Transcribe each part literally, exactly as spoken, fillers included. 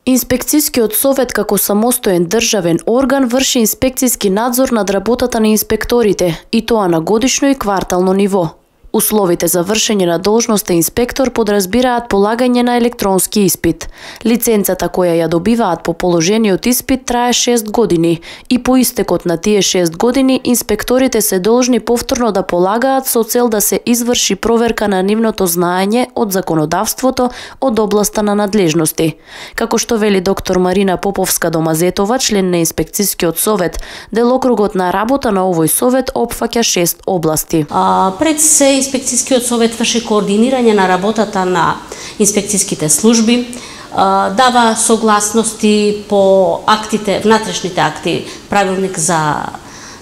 Инспекцискиот совет како самостоен државен орган врши инспекциски надзор над работата на инспекторите, и тоа на годишно и квартално ниво. Условите за вршење на должноста инспектор подразбираат полагање на електронски испит. Лиценцата која ја добиваат по положениот испит трае шест години и по истекот на тие шест години инспекторите се должни повторно да полагаат со цел да се изврши проверка на нивното знаење од законодавството од областа на надлежности. Како што вели доктор Марина Поповска-Домазетова, член на инспекцискиот совет, делокругот на работа на овој совет опфаќа шест области. А, пред се Инспекцискиот совет врши координирање на работата на инспекциските служби, дава согласности по актите, внатрешните акти, правилник за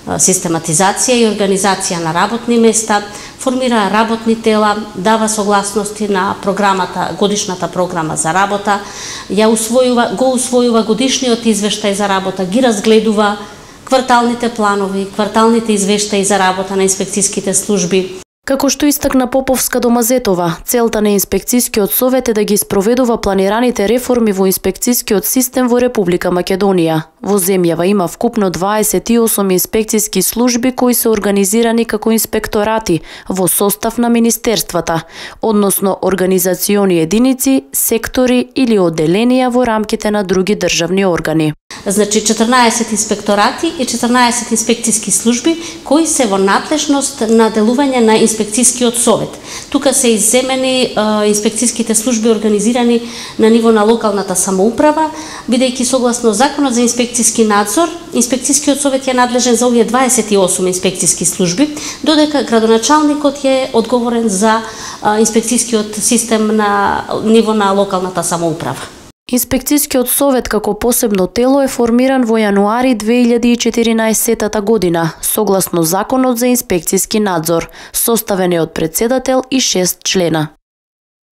систематизација и организација на работни места, формира работни тела, дава согласности на програмата, годишната програма за работа, ја усвојува, го усвојува годишниот извештај за работа, ги разгледува кварталните планови, кварталните извештаи за работа на инспекциските служби. Како што истакна Поповска-Домазетова, целта на инспекцискиот совет е да ги спроведува планираните реформи во инспекцискиот систем во Република Македонија. Во земјава има вкупно дваесет и осум инспекциски служби кои се организирани како инспекторати во состав на министерствата, односно организациони единици, сектори или одделенија во рамките на други државни органи. Значи четрнаесет инспекторати и четрнаесет инспекциски служби кои се во надлежност на делување на инспекцискиот совет. Тука се изземени е, инспекциските служби организирани на ниво на локалната самоуправа, бидејќи согласно Законот за инспекциски надзор, инспекцискиот совет е надлежен за овие дваесет и осум инспекциски служби, додека градоначалникот е одговорен за е, инспекцискиот систем на ниво на локалната самоуправа. Инспекцискиот совет како посебно тело е формиран во јануари две илјади и четиринаесетта година, согласно Законот за инспекциски надзор, составен е од претседател и шест члена.